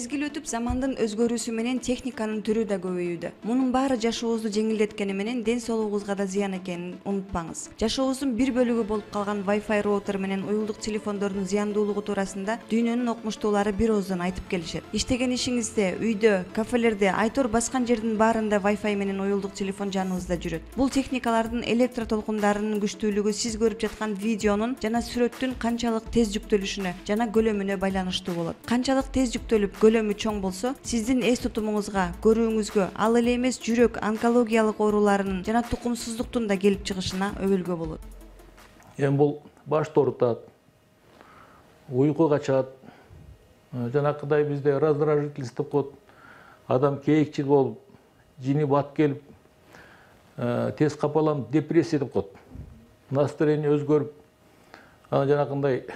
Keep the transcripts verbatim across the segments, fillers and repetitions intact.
Мезгил өтүп замандын өзгөрүүсү менен техниканын түрү да көбөйүүдө. Мунун баары жашообузду жеңилдеткени менен ден соолугубузга да зыян экенин унутпаңыз. Жашообуздун бир бөлүгү болуп калган Wi-Fi роутер менен уюлдук телефондордун зыяндуулугу туурасында дүйнөнүн окумуштуулары бир ооздон айтып келишет. Иштеген ишиңизде, үйдө, кафелерде, айтор баскан жердин баарында Wi-Fi менен уюлдук телефон жаныбызда жүрөт. Бул техникалардын электро толкундарынын күчтүүлүгү сиз көрүп жаткан видеонун жана сүрөттүн канчалык тез жүктөлүшүнө жана көлөмүнө байланыштуу болот. Канчалык тез жүктөлүп, көлөмү чоң болсо, сиздин эс тутумуңузга, көрүүңүзгө, ал эле эмес жүрөк, онкологиялык ооруларынын жана тукумсуздуктун да келип чыгышына өбөлгө болот. Эми бул башты оорутат, уйку качат, жанакыдай бизде раздражительность деп коет. Адам кээкчил болуп, жини бат келип, тез капаланып, депрессия деп коет. Настроение өзгөрүп, анан жанакындай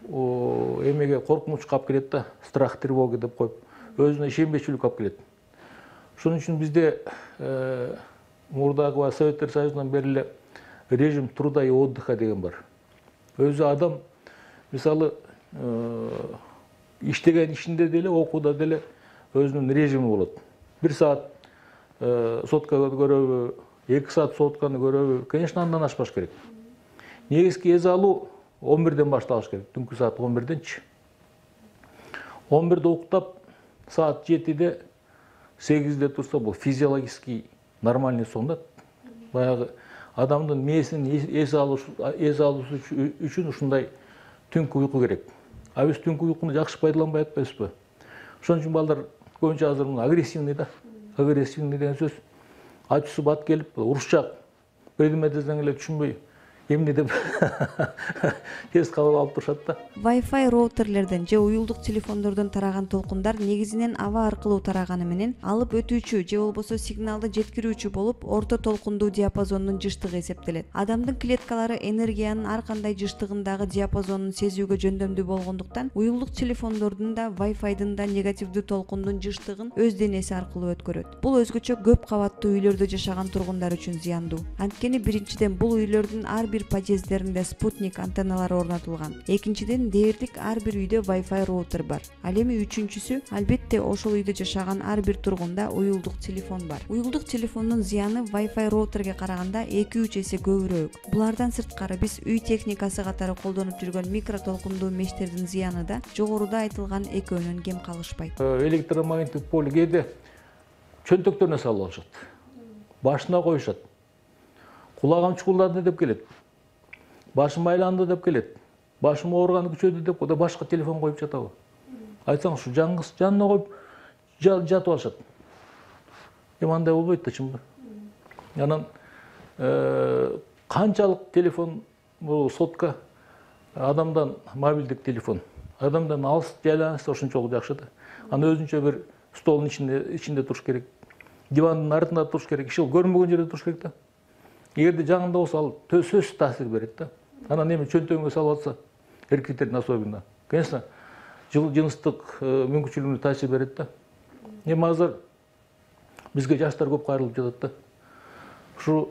эмеге коркунуч калып келет да, страх, тревога деп коюп, өзүнө ишенбечүлүк алып келет. Ошон үчүн бизде мурдагы Советтер Союзунан бери эле режим труда и отдыха деген бар. Өзү адам мисалы иштеген ишинде деле, окууда деле өзүнүн режими болот. Бир саат соткага көрөбү, эки саат сотканы көрөбү, конечно, андан ашпаш керек. Негизги эс алуу он бирден башталыш керек, түнкү саат он бирденчи. он бирде уктап, саат жетиде, сегизде турса, бул физиологический нормальный сон да. Баягы адамдын мээсинин эс алуусу үчүн ушундай түнкү уйку керек. А биз түнкү уйкуну жакшы пайдаланбай атпайбызбы? Ошон үчүн балдар көбүнчө азыр агрессивный да. Агрессивный деген сөз. Ачуусу бат келип, урушчак, бирдеме десең эле түшүнбөй, эмне деп тез кабыл алып турушат да. Wi-Fi роутерлерден же уюлдук телефондордон тараган толкундар негизинен аба аркылуу тараганы менен алып өтүүчү же болбосо сигналды жеткирүүчү болуп, орто толкундуу диапазондун жыштыгы эсептелет. Адамдын клеткалары энергиянын ар кандай жыштыгындагы диапазонун сезүүгө жөндөмдүү болгондуктан, уюлдук телефондордун да Wi-Fi'дын да негативдүү толкундун жыштыгын өз денеси аркылуу өткөрөт. Бул өзгөчө көп кабаттуу үйлөрдө жашаган тургундар үчүн зыяндуу. Анткени биринчиден бул үйлөрдүн ар бир подъездеринде спутник антенналары орнотулган. Экинчиден дээрлик ар бир үйдө Wi-Fi роутер бар. Ал эми үчүнчүсү, албетте ошол үйдө жашаган ар бир тургунда уюлдук телефон бар. Уюлдук телефондун зыяны Wi-Fi роутерге караганда эки үч эсе көбүрөөк. Булардан сырткары биз үй техникасы катары колдонуп жүргөн микро толкундуу мештердин зыяны да жогоруда айтылган экөөнөн кем калышпайт. Электромагниттик поле кээде чөнтөктөрүнө салып алышат. Башына коюшат. Кулагым чукулдады деп келет. Башым айланды деп келет. Башым ооруганы күчөдү деп коюп, башка телефон коюп жатабы. Айтсаң, ушу жаңгыс жанына коюп жатып алышат. Эми андай болбойт да, чынбы. Анан канчалык телефон, бул сотка адамдан мобилдик телефон, адамдан алыс жайланышса ошончолук жакшы да. Аны өзүнчө бир столдун ичинде ичинде туруш керек. Дивандын артында туруш керек, иши көрүнбөгөн жерде туруш керек да. Эгерде жаңында болсо ал сөзсүз таасир берет да. Анан эми чөнтөгүнгө салып атса, эркектердин особенно, конечно, жыныстык мүмкүнчүлүгүнө таасир берет да. Эми азыр бизге жаштар көп кайрылып жатат да. Ушу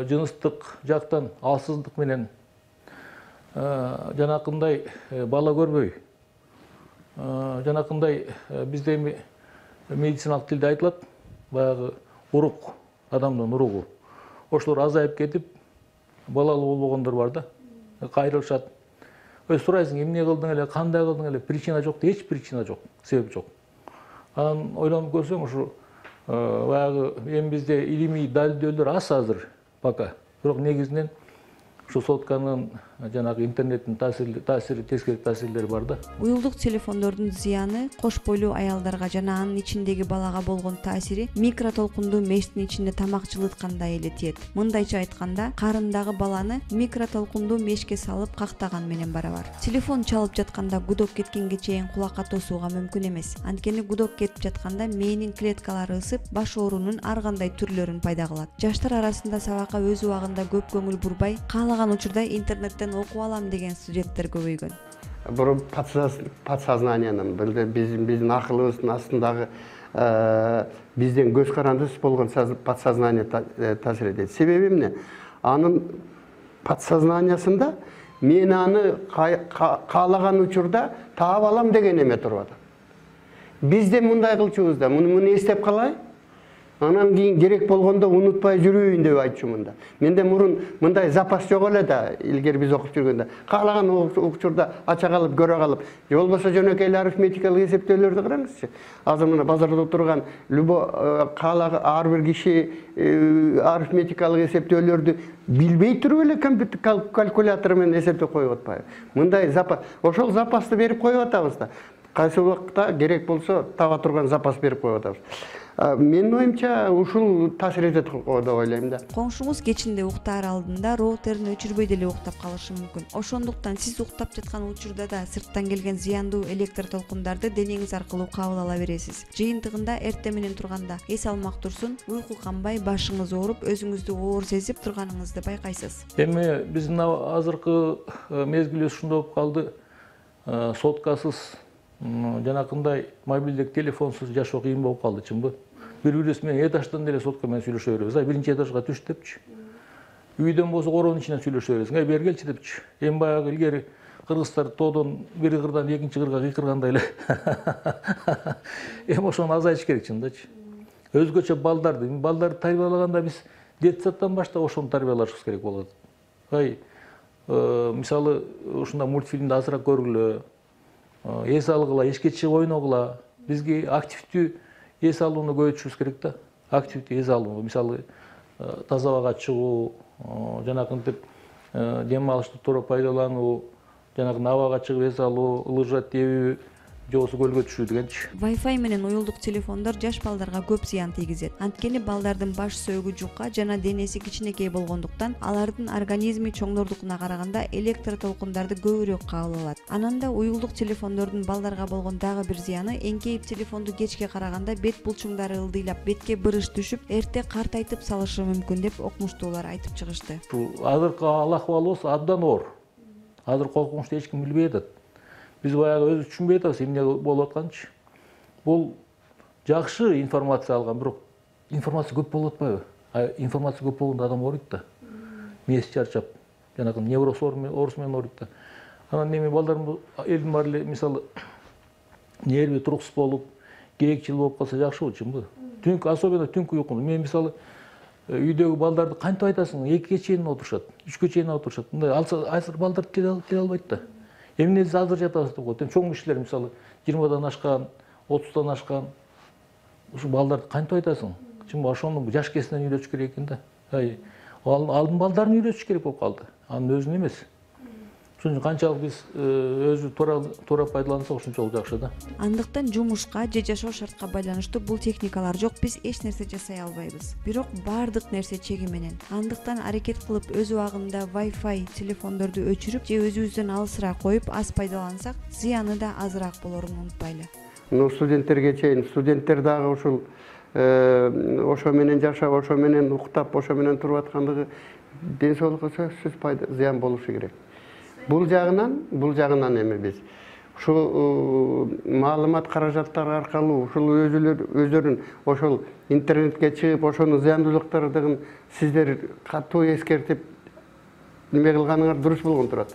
жыныстык жактан алсыздык менен жанакындай бала көрбөй, жанакындай бизде эми медициналык тилде айтылат, баягы урук, адамдын уругу. Ошолор азайып кетип, балалуу болбогондор бар да, кайрылышат. Өз сурайсың, эмне кылдың эле, кандай кылдың эле, причина жок, эч причина жок, себеп жок. Анан ойлонуп көрсөң, ушу баягы эми бизде илимий далилдөөлөр аз азыр пока. Бирок негизинен ушу сотканын жанагы интернеттин таасири, таасири, тескери таасирлери бар да. Уюлдук телефондордун зыяны кош бойлуу аялдарга жана анын ичиндеги балага болгон таасири микро толкундуу мештин ичинде тамак жылыткандай эле тиет. Мындайча айтканда, карындагы баланы микро толкундуу мешке салып кактаган менен барабар. Телефон чалып жатканда гудок кеткенге чейин кулакка тосууга мүмкүн эмес. Анткени гудок кетип жатканда мээнин клеткалары ысып, баш оорунун ар кандай түрлөрүн пайда кылат. Жаштар арасында сабакка өз убагында көп көңүл бурбай, каалаган учурда интернеттен окуп алам деген студенттер көбөйгөн. Бул подсознаниянын, биздин акылыбыздын астындагы бизден көз карандысыз болгон подсознание таасир этет. Себеби эмне? Анын подсознаниясында мен аны каалаган учурда таап алам деген эме туруп атат. Биз де мындай кылчубуз да, муну муну эстеп калай. Анан кийин керек болгондо унутпай жүрөйүн деп айтчумун да. Менде мурун мындай запас жок эле да, илгери биз окуп жүргөндө. Каалаган учурда ача калып, көрө калып, же болбосо жөнөкөй эле арифметикалык эсептөөлөрдү караңызчы. Азыр мына базарда турган любой каалаган ар бир киши арифметикалык эсептөөлөрдү билбей туруп эле компьютер калькулятор менен эсептеп коюп атпайбы? Мындай запас, ошол запасты берип коюп атабыз да. Кайсы убакта керек болсо таба турган запас берип коюп атабыз. Менин оюмча ушул таасир этет деп ойлойм да. Коңшуңуз кечинде уктаар алдында роутерин өчүрбөй деле уктап калышы мүмкүн. Ошондуктан сиз уктап жаткан учурда да сырттан келген зыяндуу электр толкундарды денеңиз аркылуу кабыл ала бересиз. Жыйынтыгында эртең менен турганда эс алмак турсун, уйку канбай, башыңыз ооруп, өзүңүздү оор сезип турганыңызды байкайсыз. Эми биздин азыркы мезгил ушундай болуп калды. Соткасыз, жанакындай мобилдик телефонсуз жашоо кыйын болуп калды, чынбы? Бири-бирибиз менен этаждан деле сотка менен сүйлөшө беребиз. Ай биринчи этажга түш депчи. Үйдөн болсо короонун ичинен сүйлөшө беребиз. Ай бери келчи депчи. Эми баягы илгери кыргыздар тоодон бир кырдан экинчи кырга кыйкыргандай эле. Эми ошону азайтыш керек чындачы. Өзгөчө балдарды, балдарды тарбиялаганда биз детсадтан баштап ошону тарбиялашыбыз керек болот. Ай мисалы ушундай мультфильмди азыраак көргүлө, эс алгыла, эшикке чыгып ойногула. Бизге активдүү эс алууну көбөйтүшүбүз керек да. Активдүү эс алуу, мисалы таза абага чыгуу, жанакынтип дем алышты туура пайдалануу, жанакындай абага чыгып эс алуу, лыжа тебүү, же болбосо көлгө түшүү дегенчи. Wi-Fi менен уюлдук телефондор жаш балдарга көп зыян тийгизет. Анткени балдардын баш сөөгү жука жана денеси кичинекей болгондуктан алардын организми чоңдордукуна караганда электр толкундарды көбүрөөк кабыл алат. Анан да уюлдук телефондордун балдарга болгон дагы бир зыяны эңкейип телефонду кечке караганда бет булчуңдары ылдыйлап, бетке бырыш түшүп, эрте картайтып салышы мүмкүн деп окумуштуулар айтып чыгышты. Азыркы ахыбалыбыз абдан оор. Азыр коркунучту эч ким билбей атат. Биз баягы өзүбүз түшүнбөй атабыз эмне болуп атканчы. Бул жакшы информация алган, бирок информация көп болуп атпайбы? А информация көп болгондо адам ооруйт да. Мээси чарчап, жанагы невроз оорусу менен ооруйт да. Анан эми балдарым элдин баары эле мисалы нерви туруксуз болуп, кээкчил болуп калса жакшы болчу, чынбы? Түнкү, особенно түнкү уйкуну. Мен мисалы үйдөгү балдарды кантип айтасың? экиге чейин отурушат, үчкө чейин отурушат. Мындай алса азыр балдар келе албайт да. Эмне азыр жатабыз деп коет. Эми чоң кишилер мисалы жыйырмадан ашкан, отуздон ашкан ушу балдарды кантип айтасың? Чынбы ошону жаш кезинен үйрөтүш керек экен да. Ай, алдын балдарын үйрөтүш керек болуп калды. Анын өзүн эмес. Ошон үчүн канчалык биз өзү туура туура пайдалансак ошончолук жакшы да. Андыктан жумушка же жашоо шартка байланыштуу бул техникалар жок, биз эч нерсе жасай албайбыз. Бирок баардык нерсе чеги менен. Андыктан аракет кылып өз убагында Wi-Fi телефондорду өчүрүп же өзүбүздөн алысыраак коюп аз пайдалансак, зыяны да азыраак болорун унутпайлы. Ну студенттерге чейин, студенттер дагы ушул ошо менен жашап, ошо менен уктап, ошо менен туруп аткандыгы ден соолукка сөзсүз пайда зыян болушу керек. Бул жагынан, бул жагынан эми биз ушул маалымат каражаттары аркылуу ушул өзүлөр өздөрүн ошол интернетке чыгып, ошонун зыяндуулуктарын сиздер катуу эскертип неме кылганыңар дурус болгон турат.